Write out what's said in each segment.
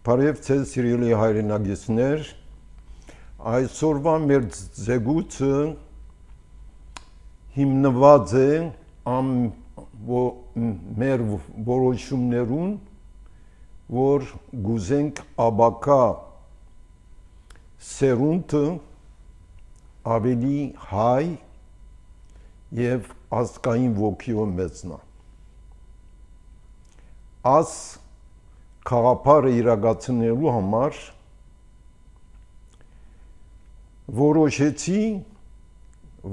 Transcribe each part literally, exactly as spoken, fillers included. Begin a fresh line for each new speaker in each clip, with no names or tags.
Բարև ձեզ սիրելի հայրենագիտներ, այսօրվա մեր զեկույցը հիմնված է ամ մեր որոշումներուն, որ գուզենք աբակա սերունդը ավելի հայ և ազգային ոգիով մեծնա։ Աս խաղապարը իրագացնելու համար որոշեցի,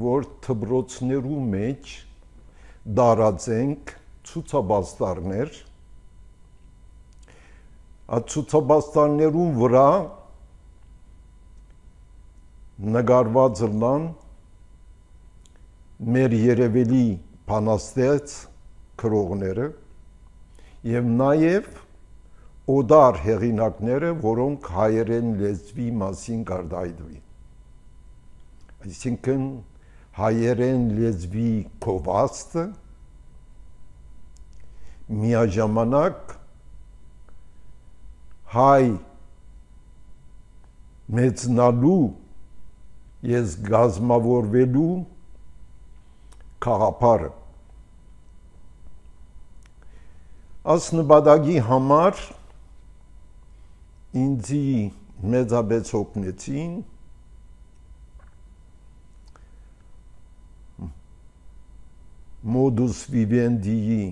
որ դպրոցներու մեջ դարածենք ցուցաբաստարներ, այդ ցուցաբաստարներուն վրա նկարված լան մեր երևելի բանաստեղծ գրողները և նաև օդար հեղինակները, որոնք հայերեն լեզվի մասին կարտահայտվի։ Այսինքն հայերեն լեզվի գովազդը միաժամանակ հայ մեծնալու և գազմավորվելու գաղափարը։ Այս նպատակի համար ինձի մեծապես օգնեցին Modus Vivendi-ի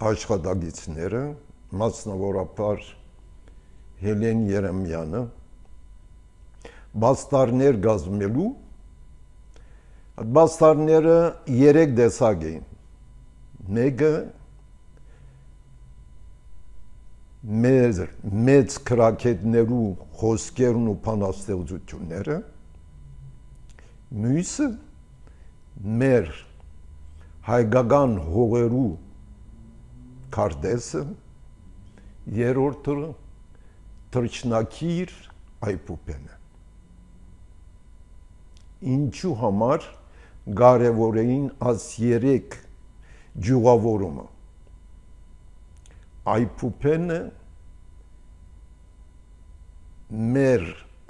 աշխատակիցները, մասնավորապես Հելեն Երեմյանը, բաստարներ կազմելու, բաստարները երեք տեսակ էին։ Մեկը մեր մեծ քրակետներու խոսքերն ու բանաստեղծությունները, մյուսը մեր հայկական հողերու քարտեզը, երրորդը թռչնակիր Այբուբենը։ Ինչու համար կարևոր էին այս երեք ճյուղավորումը։ Այբուբենը մեր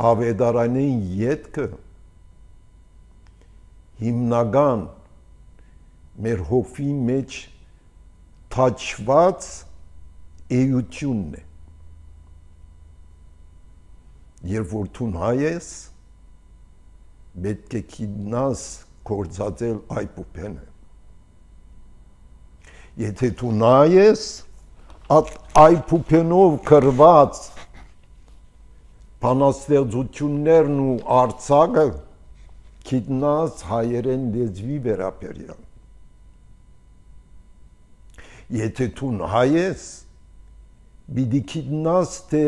ավետարանային ետքը հիմնական մեր հոգի մեջ թաչված էությունն է։ Երբ որ դու հայ ես, պետք է գիտնաս գործածել Այբուբենը։ Եթե դու հայ ես, այդ Այբուբենով գրված բանաստեղծություններն ու արձակը գիտնաս հայերեն լեզվի վերաբերյալ։ Եթե դու հայ ես, պիտի գիտնաս, թե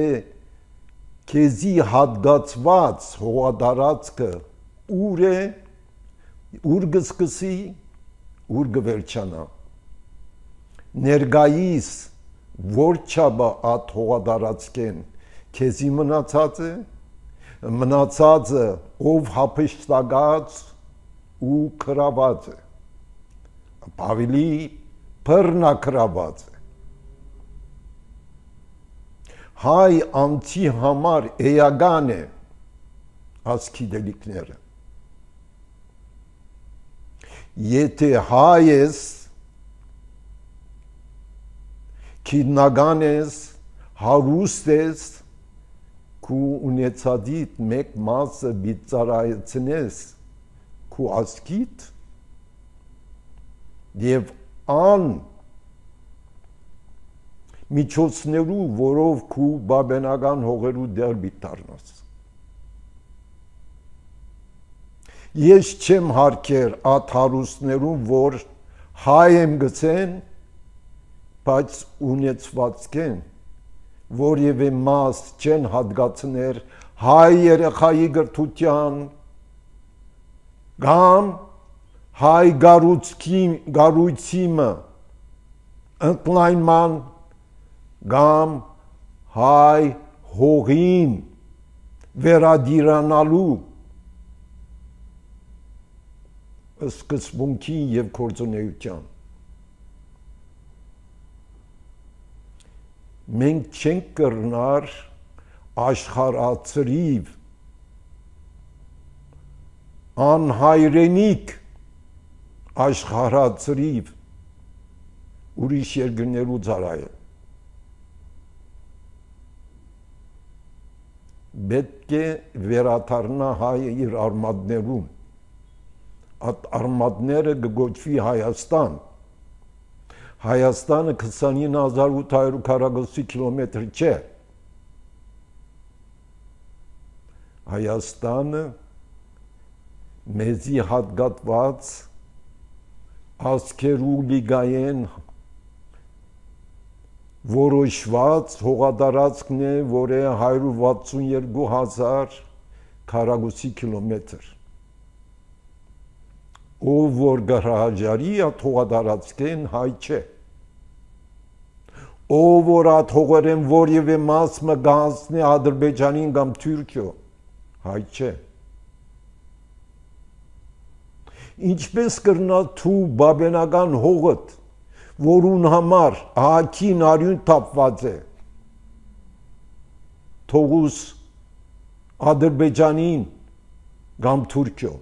քեզի հատկացված հողատարածքը ուր է, ուր կսկսի, ուր կվերջանա։ Ներկայիս որ չափը այդ հողատարածքեն քեզի մնացած է, մնացածը ով հափշտակած ու գրաված է, ավելի բռնակրաված է։ Հայ անձի համար էական է այս գիտելիքները։ Եթե հայ ես, քիդնական ես, հարուստ ես, քու ունեցածիդ մեկ մասը բիծարայցնես քու ազգիդ և ան միջոցներու, որով քու բաբենական հողերու դեր բիթարնաս։ Ես չեմ հարկեր այդ հարուստներուն, որ հայ եմ գցեն, բայց ունեցվածքեն, որևէ մաս չեն հատկացներ հայ երեխայի գրթության կամ հայ գառույցիմը ընդլայնման կամ հայ հողին վերադիրանալու սկզբունքի և գործունեության։ Մենք չենք կրնար աշխարհացրիվ անհայրենիք աշխարհացրիվ ուրիշ երկրներու ծարայը պետք է վերաթարնա հայը իր արմատներում այդ արմատները կգոչվի Հայաստան Հայաստանը քսանինը հազար ութ հարյուր քառակուսի կիլոմետր չէ Հայաստանը մեզի հատկատված ազգերու լիգայեն որոշված հողատարածքն է, որ է հարյուր վաթսունյերկու հազար քառակուսի կիլոմետր ով որ գարաժարի այդ հողատարածքեն հայ չէ ով որ այդ հողերեն որևէ մաս մը գանցնի Ադրբեջանին կամ Թուրքիո հայ չէ ինչպես կրնա թու բաբենական հողդ որուն համար ահագին արյուն թափված է թողուս Ադրբեջանին կամ Թուրքիո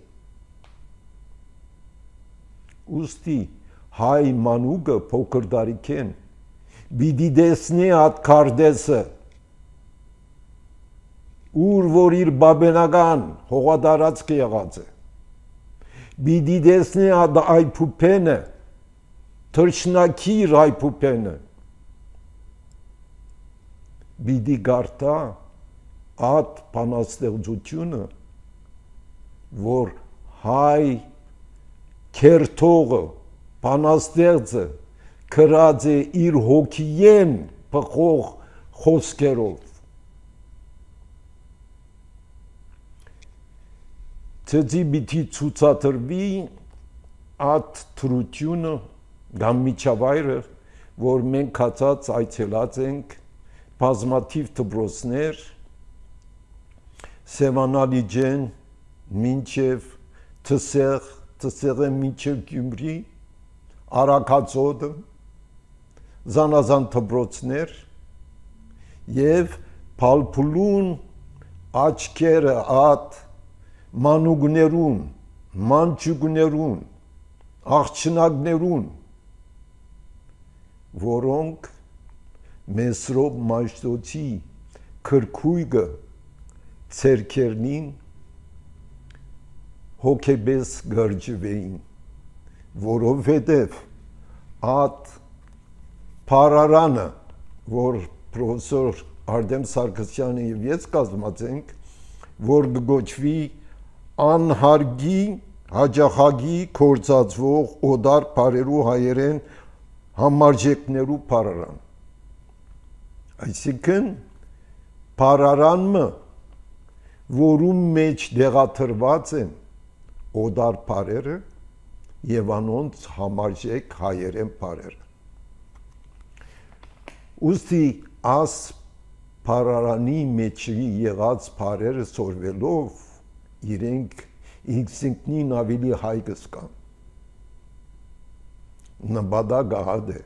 ուստի հայ մանուկը փոքր դարիքեն բիդի դեսնի այդ քարտեզը ուր որ իր բաբենական հողատարածքը եղած է բիդի դեսնի այդ այփուփենը թրջնակիր այփուփենը բիդի գարտա այդ բանաստեղծությունը որ հայ քերթողը բանաստեղծը քրած է իր հոգիեն փխող խոսքերով ցեզի բիթի ցուցադրվի այդ թրությունը կամ միջավայրը որ մենք կացած այցելած ենք բազմաթիվ դպրոցներ Սևանալիջեն մինչև Թսեղ Թսեղը մինչև Գյումրի Արաքածոդը զանազան դպրոցներ եւ փալփուլուն աչքերը at մանուկներուն մանչուկներուն աղջնակներուն որոնք Մեսրոպ Մաշտոցի քրքույգը ցերքերնին հոգեբես գրջվեին որովհետև at Փարարանը որ պրոֆեսոր Արտեմ Սարգսյանը եւ ես կազմած ենք որ գոչվի անհարգի հաջախագի կորցածվող օդար բարերու հայերեն համարժեքներու Փարարան այսինքն Փարարանը որում մեջ դեղաթրված են օդար բարերը եւ անոնց համարժեք հայերեն բարերը ուստի աս Փարարանի մեջի եղած բարերը սորվելով իրենք ինքնին ավելի հայ կսկան նպատակը հադ է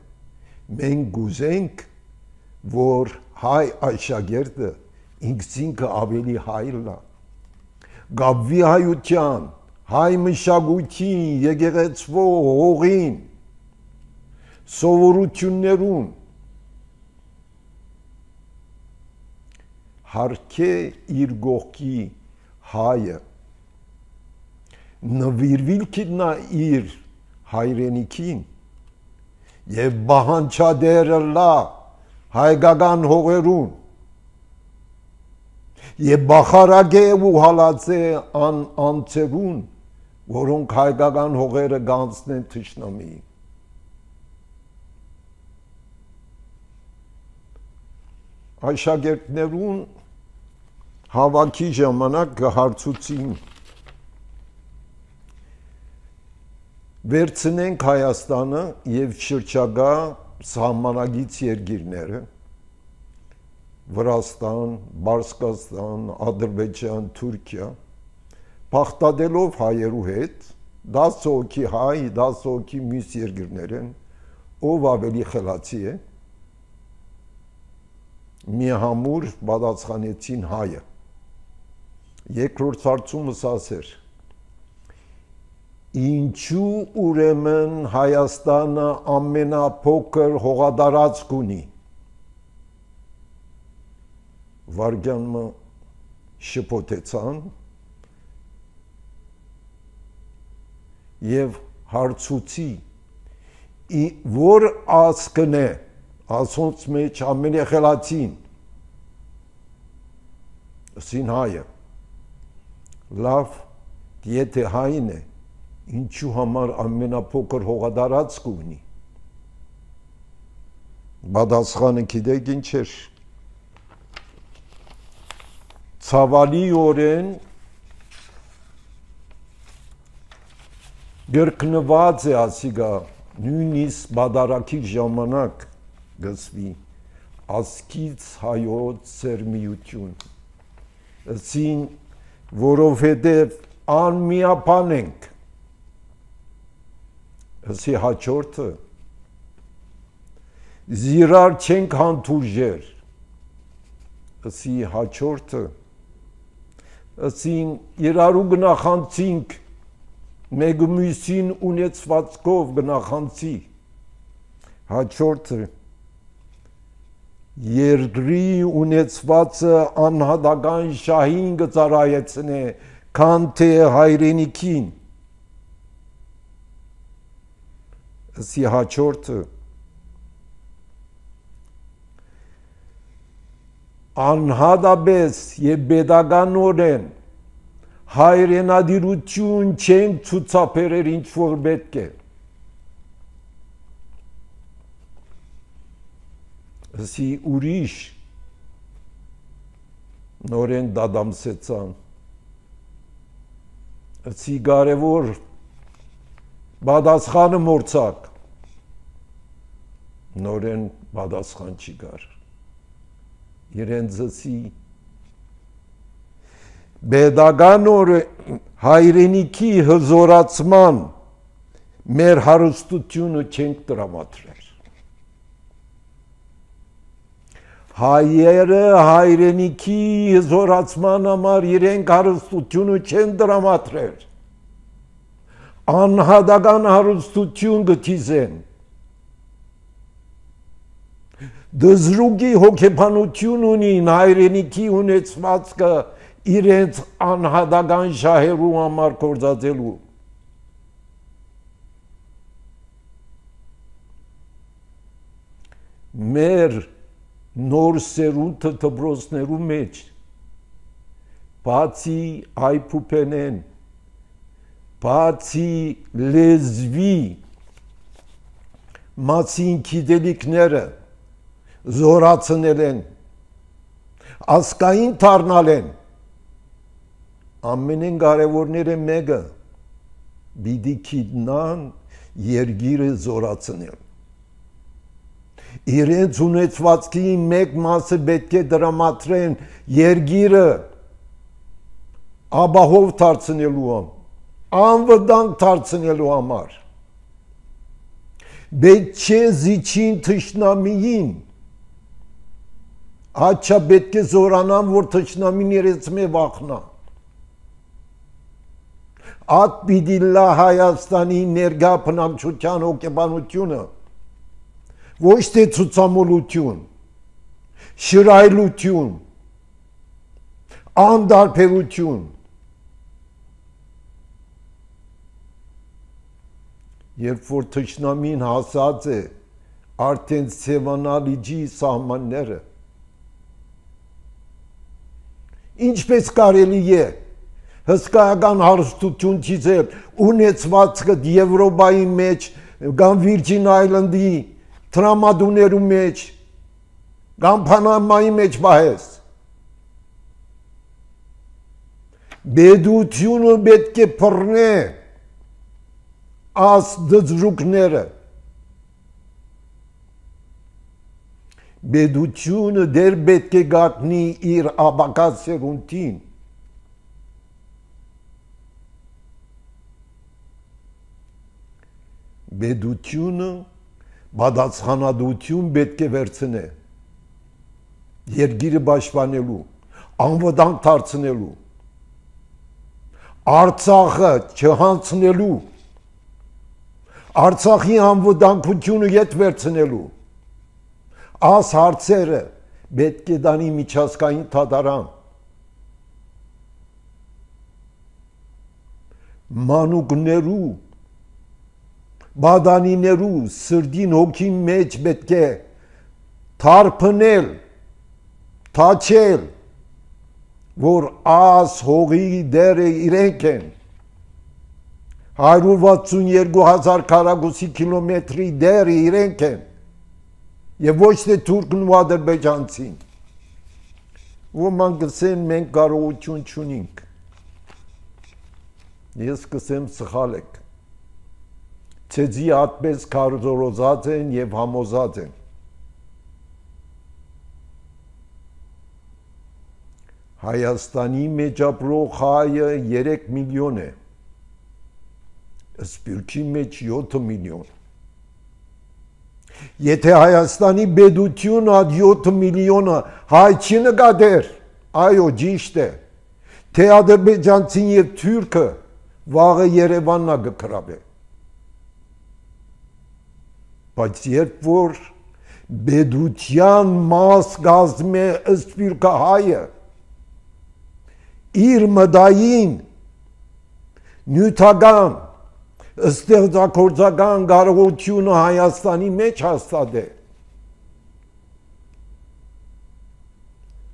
մենք գուզենք որ հայ աշակերտը ինքնին ավելի հայ լա գաբվի հայության հայ մշակույթին եկեղեցվո հողին սովորություններուն հարկե իր գողքի հայը նվիրվիլ կիտնա իր հայրենիքին եւ բահանչադերը լա հայկական հողերուն եւ բախարագե ու հալածե ան անցերուն որոնք հայկական հողերը գանցնեն թշնամի աշակերտներուն հավաքի ժամանակ կհարցուցին վերցնենք Հայաստանը եւ շրջակա սահմանագից երկիրները Վրաստան, Բարսկաստան, Ադրբեջան, Թուրքիա փախտadելով հայերու հետ դաս հոգի հայ, դաս հոգի մյուս երկիրներ են ով ավելի խելացի է մի համուր պատասխանեցին հայը։ Երկրորդ հարցումս ասեր. ինչու ուրեմն Հայաստանը ամենափոքր հողատարածք ունի։ Վարգյանը շփոթեցան եւ հարցուցի որ ասկն է ասոնց մեջ ամենախելացին ասին հայը լավ եթե հայն է ինչու համար ամենափոքր հողատարածք ունի պատասխանը գիտեք ինչ էր ցավալիորեն գրկնված է ասիգա նույնիսկ բادرակի ժամանակ գծվի ասկից հայոց սերմիություն ասին որովհետև անմիապան ենք ասի հաջորդը զիրար չենք հանդուրժեր ասի հաջորդը ասին իրարու գնախանցինք մեկ մյուսին ունեցվածքով գնախանցի հաջորդը երկրի ունեցվածը անհատական շահին գծարայեցնե քան թե հայրենիքին ասի հաջորդը անհատապես եւ pedagoganորեն հայրենադիրություն չեն ցուցաբերել ինչ որ պետք է ասի ուրիշ նորեն դադամսեցան ասի կարևոր պատասխանը մորցակ նորեն պատասխան չի գար իրենց ասի pedagoganորը հայրենիքի հզորացման մեր հարստությունը չենք տրամադրել հայերը հայրենիքի հզորացման համար իրենք հարստությունը չեն տրամադրել անհատական հարստություն գտիզեն դզրուգի հոգեբանություն ունին հայրենիքի ունեցվածքը իրենց անհատական շահերու համար կործածելու մեր նոր սերունդը դպրոցներու մեջ բացի այփուպենեն բացի լեզվի մասին գիտելիքները զորացնել են ասկային դառնալ են ամենեն կարևորները մեկը պիտի գիտնան երգիրը զորացնել իրենց ունեցվածքի մեկ մասը պետք է դրամատրեն երգիրը ապահով դարձնելու անվտանգ դարձնելու համար պետք չէ զիջին թշնամիին աչա պետք է զորանան որ թշնամին իրենց մե վախնա ատ պիտի լա Հայաստանի ներգա բնակչության հոգեբանությունը ոչ թե ցուցամոլություն, շրայլություն, անդարբերություն երբ որ թշնամին հասած է արդեն սևանալիջի սահմանները ինչպես կարելի է հսկայական հարստություն չիզել ունեցվածքը Եվրոպայի մեջ կամ Վիրջին Այլանդի տրամադուներու մեջ կամ Պանամայի մեջ բահես բեդությունը պետք է փռնե աս դզրուկները բեդությունը դեր պետք է գատնի իր աբակած սերունդին բեդությունը պատասխանատվություն պետք է վերցնե երկիրը պաշտպանելու, անվտանգ դարձնելու, Արցախը չհանցնելու, Արցախի անվտանգությունը ետ վերցնելու, այս հարցերը պետք է դանի միջազգային դատարան, մանուկներու, բադանիներու սրդին հոգին մեջ պետք է թարփնել, թաչել, որ աս հողի դերը իրենք են, հարյուր վաթսուն երկու հազար քառակուսի կիլոմետրի դերը իրենք են, և ոչ թե թուրքն ու ադրբեջանցին, ոմանք կսեն մենք կարողություն չունենք, ես կսեմ սխալ եք, ցեզի այդպես քարոզած են և համոզած են, Հայաստանի մեջ ապրող հայը երեք միլիոն է, Սփյուռքի մեջ յոթ միլիոն։ Եթե Հայաստանի բեդությունը այդ յոթ միլիոնը հայ չի նկատեր, այո, ճիշտ է, թե ադրբեջանցին և թուրքը վաղը Երևանն կգրավե։ Բայց երբ որ բեդության մաս կազմում է Սփյուռքը հայը, իր մտային նյութական ստեղծագործական կարողությունը Հայաստանի մեջ հաստատ է,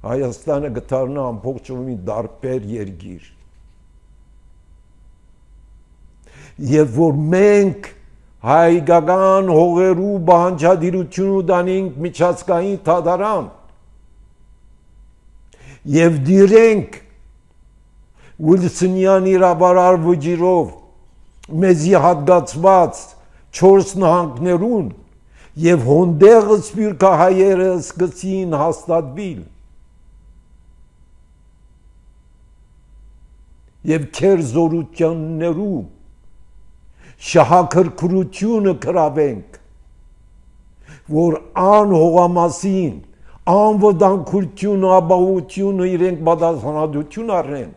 Հայաստանը կդառնա ամբողջովին տարբեր երկիր, և որ մենք հայկական հողերու պահանջատիրությունը տանենք միջազգային դատարան և դիրենք Ուիլսոնյան իրավարար վճիրով մեզի հատկացված չորս նահանգներուն և հոնդեղ սփյուռքը հայերը սկսին հաստատվել և քեր զորություններու շահագրգռությունը գրավենք, որ ան հողամասին անվտանգությունը, ապահովությունը իրենք պատասխանատվություն առնեն,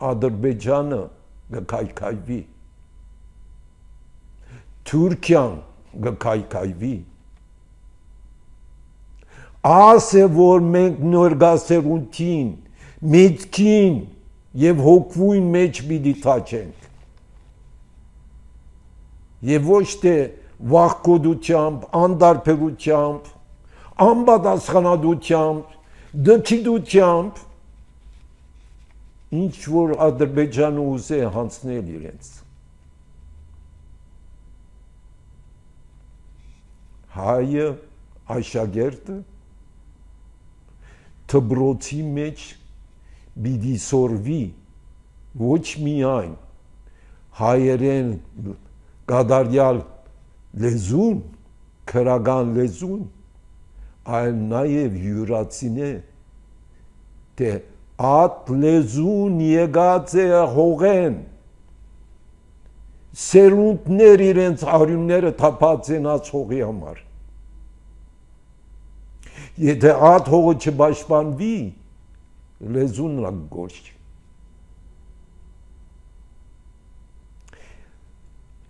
Ադրբեջանը կքայքայվի, Թուրքիան կքայքայվի, աս է, որ մենք նորգասերունթին, միտքին և հոգվույն մեջ պիտի թաչենք, և ոչ թե վախկոտությամբ, անտարբերությամբ, անպատասխանատվությամբ, դքիդությամբ, ինչ որ Ադրբեջանը ուզե հանցնել իրենց։ Հայը, աշակերտը, դպրոցի մեջ պիտի սորվի ոչ միայն հայերեն կատարյալ լեզուն, քրական լեզուն, այլ նաև յուրացինե, թե Այդ լեզուն եկած է հողեն, սերունդներ իրենց արյունները թափած են այդ հողի համար։ Եթե այդ հողը չպաշտպանվի, լեզուն գործ չի։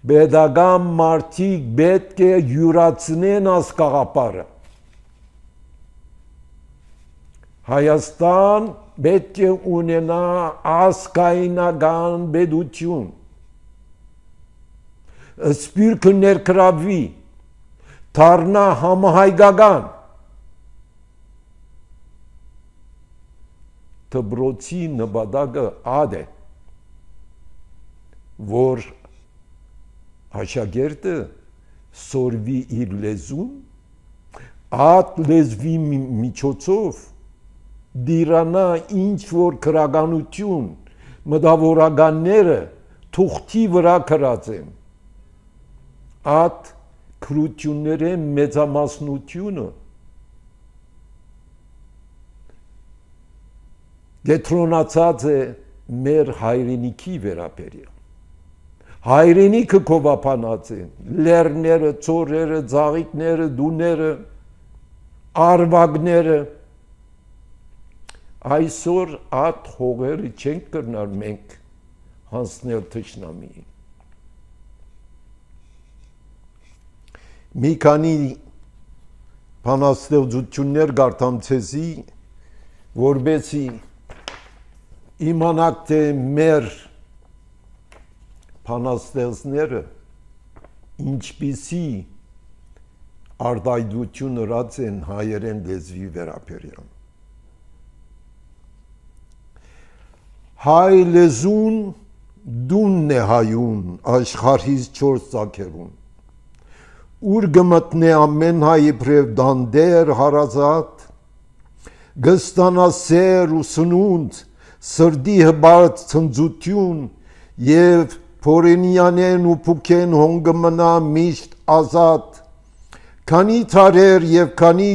Պետական մարդիկ պետք է յուրացնեն այս գաղափարը։ Հայաստան պետք է ունենա ազգայնական պետություն, Սփյուռքը ներգրավվի, դառնա համահայկական, դպրոցի նպատակը այդ է, որ աշակերտը սորվի իր լեզուն, այդ լեզվի միջոցով դիրանա ինչ որ քրականություն մտավորականները թուղթի վրա գրած են, այդ քրությունների մեծամասնությունը կենտրոնացած է մեր հայրենիքի վերաբերյալ, Հայրենիքը կովապանած են, լերները, ծորերը, ձաղիկները, դուները, արվագները, այսօր այդ հողերը չենք կրնար մենք հանցնել թշնամիին։ Մի քանի բանաստեղծություններ գարտամ ցեզի, որբեսի իմանաք թե մեր բանաստեղծները ինչպիսի արտահայտություն ըրած են հայերեն լեզվի վերաբերյալ։ Հայ լեզուն դունն է հայուն աշխարհից չորս ծագերուն, ուր գմտնե ամեն հայ իբրև դանդեր հարազատ, գստանա սեր ու սնունդ, սրդի հբարդ ցնծություն եւ փորենյանեն ու փուքեն հոնգմնա միշտ ազատ, քանի թարեր եւ քանի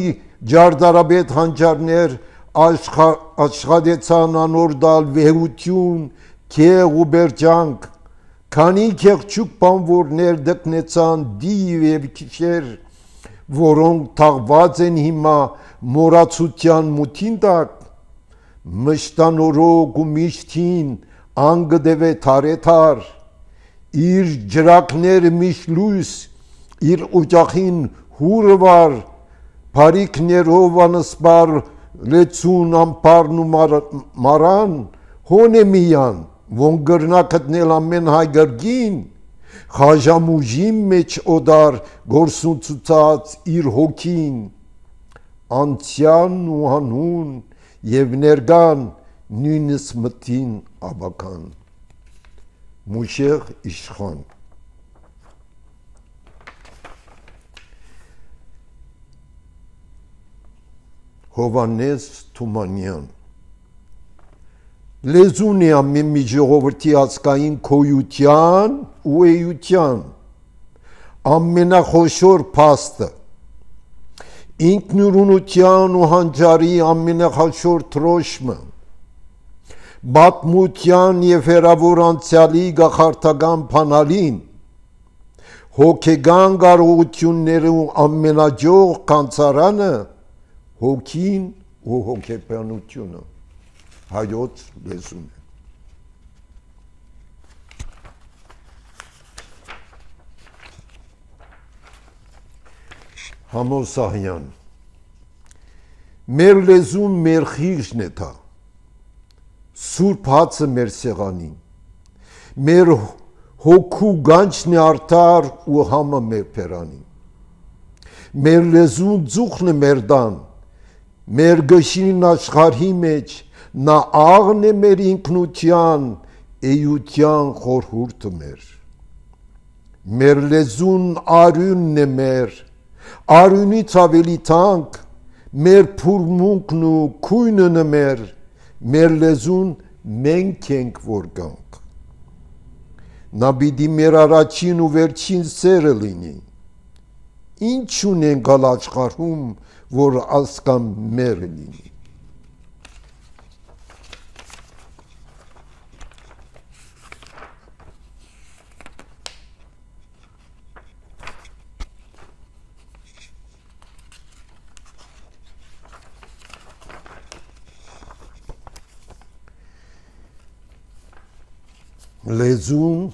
ջարդարաբեդ հանճարներ աշխատեցան անորդալ վեհություն, քեղ ու բերջանք, քանի քեղչուկ բանվորներ դկնեցան դիվ եւ քիշեր, որոնք թաղված են հիմա մորացության մութին տակ, մշտանորոգ ու միշտին անգդեվե թարեթար, իր ջրակները միշտ լույս, իր օջախին հուրվար, բարիքներով անսպար լեցուն ամպարն ու մարան, հոն է միան, ոնք գրնա գտնել ամեն հայ գրգին, խաժամուժի մեջ օդար գործունցուցած իր հոգին, անցյան ու հանուն եւ ներգան նույնս մտին աբական։ Մուշեղ իշխան։ Հովանես Թումանյան։ Լեզուն է ամեն մի ժողովրդի ազգային քոյության ու էության ամենախոշոր փաստը, ինքնուրույնության ու հանճարի ամենախոշոր թրոշմը, բատմության եւ հերավոր անցյալի գախարտական փանալին, հոգեգան կարողությունները ու ամենաջող կանցարանը, հոգին ու հոգեբանությունը հայոց լեզուն է։ Համոսահյան։ Մեր լեզուն մեր խիղճն է թա, սուրբ հացը մեր սեղանին, մեր հոգու գանչն է արդար ու համը մեր պերանին, մեր լեզուն ձուխն է մեր դան, մեր գշին աշխարհի մեջ, նա աղն է մեր ինքնության, էյության խորհուրդը մեր, մեր լեզուն արյունն է մեր, արյունից ավելի թանկ, մեր փուրմունքն ու քույնն է մեր, մեր լեզուն մենք ենք որ գանք, նա պիտի մեր առաջին ու վերջին սերը լինի, ինչ ունենք գալ աշխարհում, որ ասկան մեր լինի։ Լեզուն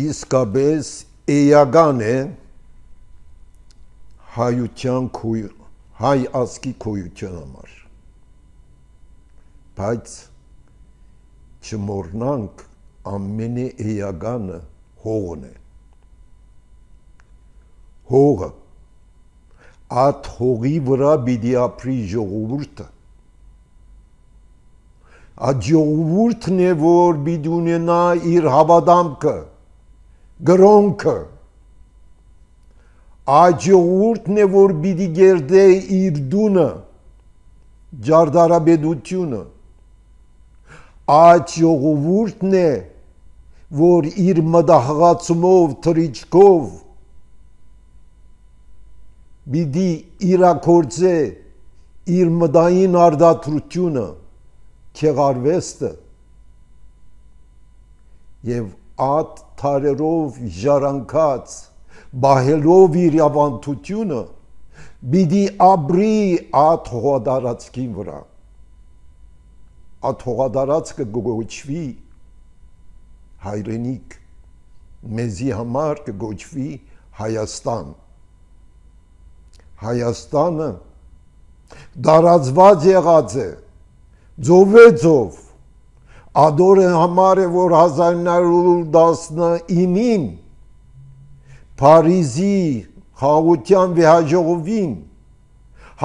իսկապես էական է հայության հայ ազգի քոյության համար, բայց չմոռնանք ամենաէականը հողն է, հողը, այդ հողի վրա պիտի ապրի ժողովուրդը, այդ ժողովուրդն է, որ պիտի ունենա իր հավատամքը, գրոնքը, այդ ժողովուրդն է, որ պիտի գերդե իր դունը, ջարդարաբեդությունը, այդ ժողովուրդն է, որ իր մտահղացումով, թռիչքով պիտի իրագործե իր մտային արտադրությունը, քեղարվեստը եւ ատ թարերով ժառանգած բահելով իր ավանդությունը բիդի ապրի ատ հողադարածքի վրա ատ հողադարածքը գոչվի հայրենիք մեզի համար կգոչվի Հայաստան Հայաստանը դարածված եղած է ձովեձով ադորը համար է որ հազար նոր տասնինին Փարիզի խաղաղության վեհաժողովին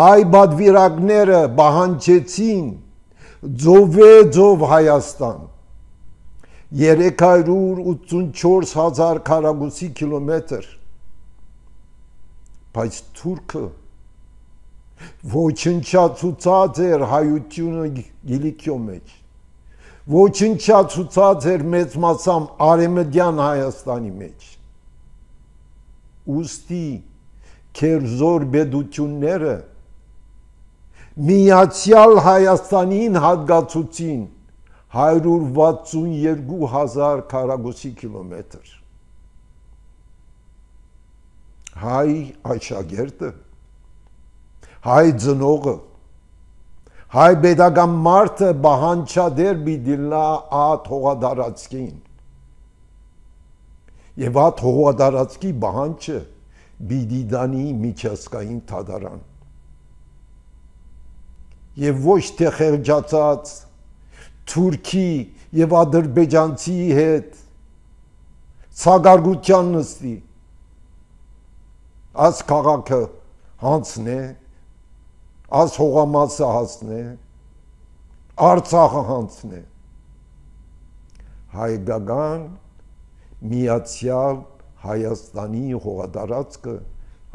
հայ բադվիրակները բահանջեցին ձովեձով Հայաստան երեք հարյուր ութսունչորս հազար քառակուսի կիլոմետր բայց թուրքը ոչնչացուցած էր հայությունը գիլիքյո մեջ ոչնչացուցած էր մեծ մասամբ արևմտյան Հայաստանի մեջ ուստի քերզոր բեդությունները միացյալ Հայաստանին հատկացուցին հարյուր վաթսունյոթ հազար քառակուսի կիլոմետր հայ աշակերտը հայ ծնողը հայ pedagogan մարդը բահանջադեր բիդիլա ատ հողադարածքին եւ ատ հողադարածքի բահանջը բիդիդանի միջազգային թադարան եւ ոչ թե խեղճացած Թուրքի եւ ադրբեջանցի հետ ցագարգության նստի աս քաղաքը հանցնե աս հողամասը հանցնե Արցախը հանցնե հայկական միացյալ Հայաստանի հողադարածքը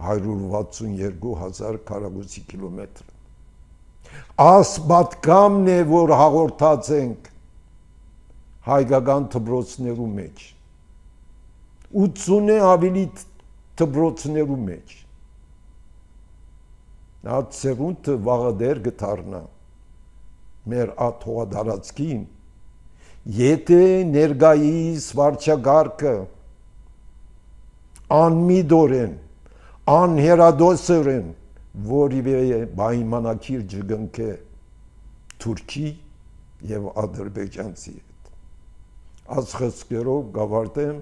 հարյուր վաթսունյոթ հազար քառակուսի կիլոմետր Աս պատկամն է, որ հաղորդած ենք հայկական թբրոցներու մեջ, ութսուն է ավելի թբրոցներու մեջ, նա ծերունտը վաղադեր գթարնա, մեր ատ հողադարածքին, եթե ներգայիս վարչագարկը անմիդորեն, անհերադոսորեն, որիվե պայմանակիր ջգնքե Թուրքի եւ ադրբեջանցի հետ այս խսկերով գավարտեմ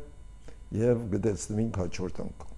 եւ գտեցնենք հաջորդ անգամ